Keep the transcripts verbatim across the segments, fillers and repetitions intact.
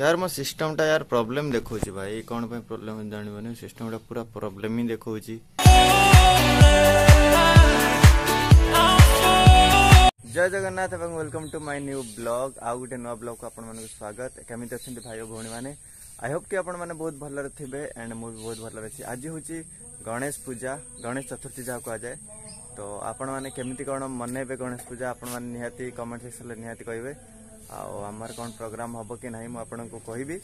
ୟାର ମୋ ସିଷ୍ଟମଟା ୟାର ପ୍ରୋବ୍ଲେମ୍ ଦେଖାଉଛି ଭାଇ। କ'ଣ ପାଇଁ ପ୍ରୋବ୍ଲେମ୍ ଜାଣିବନି, ସିଷ୍ଟମଟା ପୁରା ପ୍ରୋବ୍ଲେମ୍ ହିଁ ଦେଖାଉଛି। ଜୟ ଜଗନ୍ନାଥ ଏବଂ welcome to my new blog. ଆଉ ଗୋଟେ ନୂଆ ବ୍ଲଗ୍କୁ ଆପଣମାନଙ୍କୁ ସ୍ୱାଗତ। କେମିତି ଅଛନ୍ତି ଭାଇ ଓ ଭଉଣୀମାନେ? I Hope କି ଆପଣମାନେ ବହୁତ ଭଲରେ ଥିବେ ଆଣ୍ଡ ମୁଁ ବି ବହୁତ ଭଲରେ ଅଛି। ଆଜି ହେଉଛି ଗଣେଶ ପୂଜା, ଗଣେଶ ଚତୁର୍ଥୀ ଯାହା କୁହାଯାଏ। ତ ଆପଣମାନେ କେମିତି କ'ଣ ମନେଇବେ ଗଣେଶ ପୂଜା, ଆପଣମାନେ ନିହାତି କମେଣ୍ଟ ସେକ୍ସନରେ ନିହାତି କହିବେ। ଆଉ ଆମର କ'ଣ ପ୍ରୋଗ୍ରାମ ହବ କି ନାହିଁ ମୁଁ ଆପଣଙ୍କୁ କହିବି,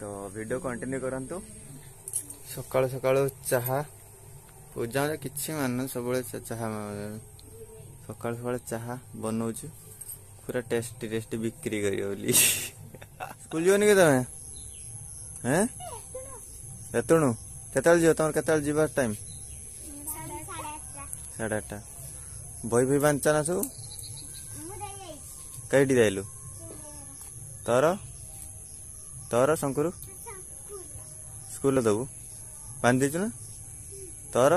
ତ ଭିଡ଼ିଓ କଣ୍ଟିନ୍ୟୁ କରନ୍ତୁ। ସକାଳୁ ସକାଳୁ ଚାହା ପୂଜା କିଛି ମାନୁ, ସବୁବେଳେ ଚାହା ସକାଳୁ ସକାଳୁ ଚାହା ବନଉଛୁ, ପୁରା ଟେଷ୍ଟି ଟେଷ୍ଟି ବିକ୍ରି କରିବ ବୋଲି। ସ୍କୁଲ ଯିବନି କି ତମେ? ହେଁ, ଏତେଣୁ କେତେବେଳେ ଯିବ? ତମର କେତେବେଳେ ଯିବା ଟାଇମ୍? ସାଢ଼େ ଆଠଟା। ବହି ଫହି ବାନ୍ଧିଛ ନା ସବୁ? କେଇଠି ଯାଇଲୁ? ତୋର ତୋର ଶଙ୍କୁରୁ ସ୍କୁଲରେ ଦବୁ, ବାନ୍ଧି ଦେଇଛୁ ନା ତୋର?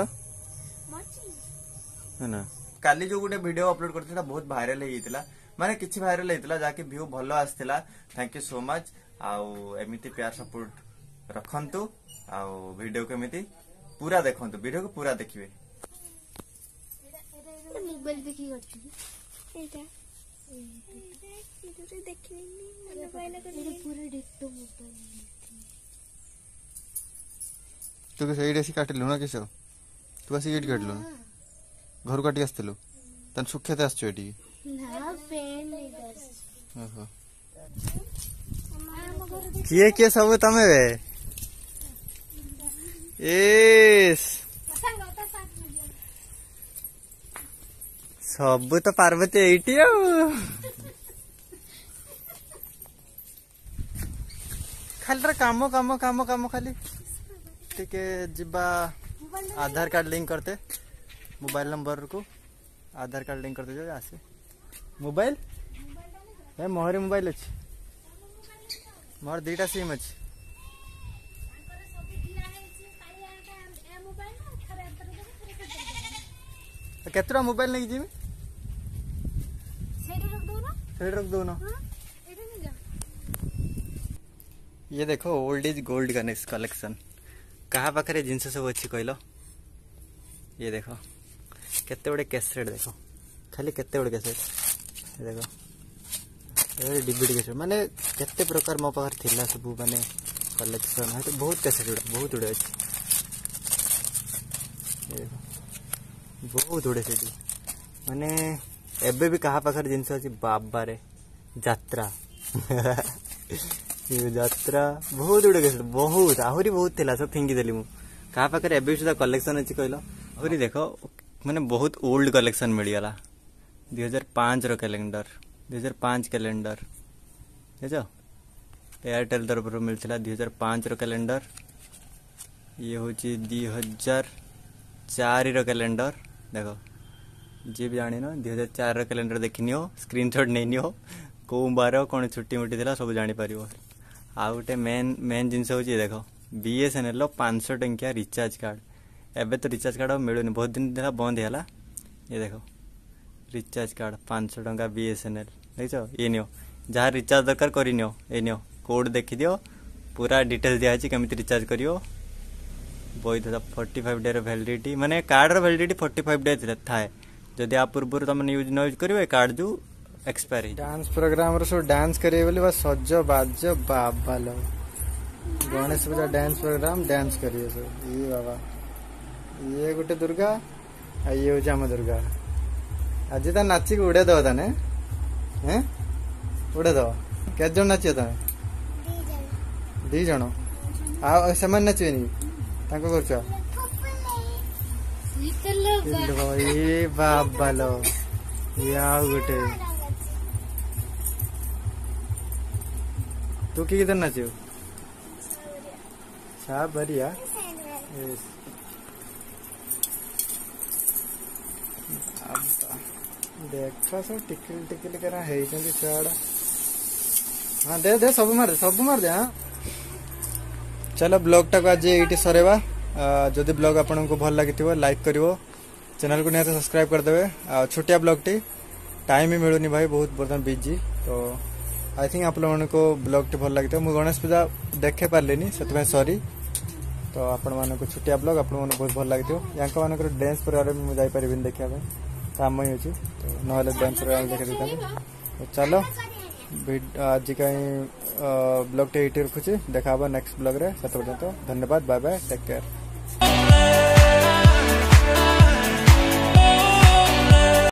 ନା, କାଲି ଯୋଉ ଗୋଟେ ଭିଡିଓ ଅପଲୋଡ କରିଥିଲି ସେଟା ବହୁତ ଭାଇରାଲ ହେଇଯାଇଥିଲା, ମାନେ କିଛି ଭାଇରାଲ ହେଇଥିଲା ଯାହାକି ଭ୍ୟୁ ଭଲ ଆସିଥିଲା। Thank you so much. ଆଉ ଏମିତି ପ୍ୟାର ସପୋର୍ଟ ରଖନ୍ତୁ ଆଉ ଭିଡିଓ କେମିତି ପୁରା ଦେଖନ୍ତୁ, ଭିଡିଓକୁ ପୁରା ଦେଖିବେ। ମୋବାଇଲ ଦେଖିକି କରିଥିଲି ଏଇଟା, ପୁରା ଡିଟୋ ମୋବାଇଲ। ତୁ ସେଇଠି ଆସିକି କାଟିଲୁ ନା କିସ? ତୁ ଆସିକି ଏଇଠି କାଟିଲୁ ନା ଘରୁ କାଟିକି ଆସିଥିଲୁ? ତାହେଲେ ସୁକ୍ଷେତ ଆସିଛୁ ଏଠିକି? ଓହୋ, କିଏ କିଏ ସବୁ ତମେ? ଏସ୍, ସବୁ ତ ପାର୍ବତୀ ଏଇଠି। ଆଉ ଖାଲି କାମ କାମ କାମ କାମ, ଖାଲି ଟିକେ ଯିବା ଆଧାର କାର୍ଡ ଲିଙ୍କ କରତେ, ମୋବାଇଲ ନମ୍ବରକୁ ଆଧାର କାର୍ଡ ଲିଙ୍କ କରିତେ ଯିବା। ଆସେ ମୋବାଇଲ, ଏ ମୋହରି ମୋବାଇଲ ଅଛି, ମୋର ଦିଟା ସିମ୍ ଅଛି। କେତେଟା ମୋବାଇଲ ନେଇକି ଯିବି? ସେଇଠି ରଖିଦଉନ। ଇଏ ଦେଖ, ଓଲ୍ଡ is gold collection. କାହା ପାଖରେ ଜିନିଷ ସବୁ ଅଛି କହିଲ? ଇଏ ଦେଖ, କେତେ ଗୁଡ଼େ କ୍ୟାସେଟ୍ ଦେଖ, ଖାଲି କେତେ ଗୁଡ଼େ କ୍ୟାସେଟ୍ ଦେଖ, ଡିଭିଡି କ୍ୟାସେଟ୍, ମାନେ କେତେ ପ୍ରକାର ମୋ ପାଖରେ ଥିଲା ସବୁ, ମାନେ କଲେକ୍ସନ୍ ବହୁତ କ୍ୟାସେଟ୍ ଗୁଡ଼ା ବହୁତ ଗୁଡ଼େ ଅଛି। ଦେଖ, ବହୁତ ଗୁଡ଼େ ସେଠି, ମାନେ ଏବେ ବି କାହା ପାଖରେ ଜିନିଷ ଅଛି? ବାବାରେ, ଯାତ୍ରା ଯାତ୍ରା ବହୁତ ଗୁଡ଼େ କ୍ୟାସେଟ୍, ବହୁତ ଆହୁରି ବହୁତ ଥିଲା, ସବୁ ଫିଙ୍ଗିଦେଲି ମୁଁ। କାହା ପାଖରେ ଏବେ ବି ସୁଦ୍ଧା କଲେକ୍ସନ୍ ଅଛି କହିଲ? ଆହୁରି ଦେଖ, ମାନେ ବହୁତ ଓଲ୍ଡ କଲେକ୍ସନ୍ ମିଳିଗଲା। ଦୁଇ ହଜାର ପାଞ୍ଚର କ୍ୟାଲେଣ୍ଡର, ଦୁଇ ହଜାର ପାଞ୍ଚ କ୍ୟାଲେଣ୍ଡର ବୁଝଛ, ଏୟାରଟେଲ୍ ତରଫରୁ ମିଳିଥିଲା ଦୁଇ ହଜାର ପାଞ୍ଚର କ୍ୟାଲେଣ୍ଡର। ଇଏ ହେଉଛି ଦୁଇ ହଜାର ଚାରିର କ୍ୟାଲେଣ୍ଡର। ଦେଖ, ଯିଏ ବି ଜାଣିନ ଦୁଇ ହଜାର ଚାରିର କ୍ୟାଲେଣ୍ଡର ଦେଖିନିଅ, ସ୍କ୍ରିନସଟ୍ ନେଇନିଅ, କେଉଁ ବାର କ'ଣ ଛୁଟି ମୁଟି ଥିଲା ସବୁ ଜାଣିପାରିବ। ଆଉ ଗୋଟେ ମେନ୍ ମେନ୍ ଜିନିଷ ହେଉଛି ଦେଖ, ବିଏସ୍ଏନ୍ଏଲ୍ର ପାଞ୍ଚଶହ ଟଙ୍କିଆ ରିଚାର୍ଜ କାର୍ଡ଼। ଏବେ ତ ରିଚାର୍ଜ କାର୍ଡ଼ ଆଉ ମିଳୁନି, ବହୁତ ଦିନ ହେଲା ବନ୍ଦ ହେଇଗଲା। ଇଏ ଦେଖ, ରିଚାର୍ଜ କାର୍ଡ଼ ପାଞ୍ଚଶହ ଟଙ୍କା ବିଏସ୍ଏନ୍ଏଲ୍, ଦେଖିଛ? ଇଏ ନିଅ, ଯାହା ରିଚାର୍ଜ ଦରକାର କରିନିଅ। ଏ ନିଅ, କୋଡ଼୍ ଦେଖିଦିଅ, ପୁରା ଡିଟେଲ୍ସ ଦିଆହେଇଛି କେମିତି ରିଚାର୍ଜ କରିବ। ବୈଧତା ଫର୍ଟି ଫାଇଭ୍ ଡେର ଭ୍ୟାଲିଡ଼ିଟି, ମାନେ କାର୍ଡ଼ର ଭ୍ୟାଲିଡ଼ିଟି ଫର୍ଟି ଫାଇଭ୍ ଡେ ଥାଏ। ଯଦି ଆ ପୂର୍ବରୁ ତମେ ୟୁଜ୍ ନ ୟୁଜ୍ କରିବ, ଏ କାର୍ଡ଼ ଯୋଉ ଏକ୍ସପାୟାର ହେଇଯିବ। ଡାନ୍ସ ପ୍ରୋଗ୍ରାମର ସବୁ ଡାନ୍ସ କରିବେ ବୋଲି ବା ସଜ ବାଜ, ବାବା ଲୋ। ଗଣେଶ ପୂଜା ଡ୍ୟାନ୍ସ ପ୍ରୋଗ୍ରାମ, ଡ୍ୟାନ୍ସ କରିବେ ସବୁ। ଇଏ ବାବା, ଇଏ ଗୋଟେ ଦୁର୍ଗା ଆଉ ଇଏ ହଉଛି ଆମ ଦୁର୍ଗା। ଆଜି ତା ନାଚିକି ଉଡେଇ ଦବ ତାନେ, ହେଁ ଉଡେଇ ଦବ। କେତେ ଜଣ ନାଚିବ ତମେ? ଦି ଜଣ। ଆଉ ସେମାନେ ନାଚିବେନି? ତାଙ୍କ କରୁଛ? ଏ ବାବା ଲୋ, ଇଏ ଆଉ ଗୋଟେ। ତୁ କି ଗୀତ ନାଚିବୁ? ସାବରିଆ। ଦେଖ, ସବୁ ଟିକିଲି ଟିକିଲି କରା ହେଇଛନ୍ତି ଛୁଆଗୁଡ଼ା। ହଁ, ଦେ ଦେ, ସବୁ ମାରିଦେ, ସବୁ ମାରିଦେ। ହଁ, ଚାଲ, ବ୍ଲଗଟାକୁ ଆଜି ଏଇଠି ସରେଇବା। ଯଦି ବ୍ଲଗ ଆପଣଙ୍କୁ ଭଲ ଲାଗିଥିବ ଲାଇକ୍ କରିବ, ଚ୍ୟାନେଲକୁ ନିହାତି ସବସ୍କ୍ରାଇବ୍ କରିଦେବେ। ଆଉ ଛୋଟିଆ ବ୍ଲଗଟି, ଟାଇମ୍ ବି ମିଳୁନି ଭାଇ, ବହୁତ ବର୍ତ୍ତମାନ ବିଜି ତ। I think ଆପଣମାନଙ୍କୁ ବ୍ଲଗ୍ଟି ଭଲ ଲାଗିଥିବ। ମୁଁ ଗଣେଶ ପୂଜା ଦେଖେଇ ପାରିଲିନି, ସେଥିପାଇଁ ସରି। ତ ଆପଣମାନଙ୍କୁ ଛୋଟିଆ ବ୍ଲଗ୍ ଆପଣମାନଙ୍କୁ ବହୁତ ଭଲ ଲାଗିଥିବ। ୟାଙ୍କ ମାନଙ୍କର ଡ୍ୟାନ୍ସ ପ୍ରୋଗ୍ରାମ ମୁଁ ଯାଇପାରିବିନି ଦେଖିବା ପାଇଁ, କାମ ହିଁ ଅଛି, ତ ନହେଲେ ଡ୍ୟାନ୍ସ ପ୍ରୋଗ୍ରାମ ଦେଖେଇ ଦେଇଥାନ୍ତି। ତ ଚାଲ, ଆଜି କାଇଁ ବ୍ଲଗ୍ଟି ଏଇଠି ରଖୁଛି। ଦେଖା ହବ ନେକ୍ସଟ ବ୍ଲଗ୍ରେ। ସେତେ ପର୍ଯ୍ୟନ୍ତ ଧନ୍ୟବାଦ, ବାଏ ବାଏ, ଟେକ୍ କେୟାର।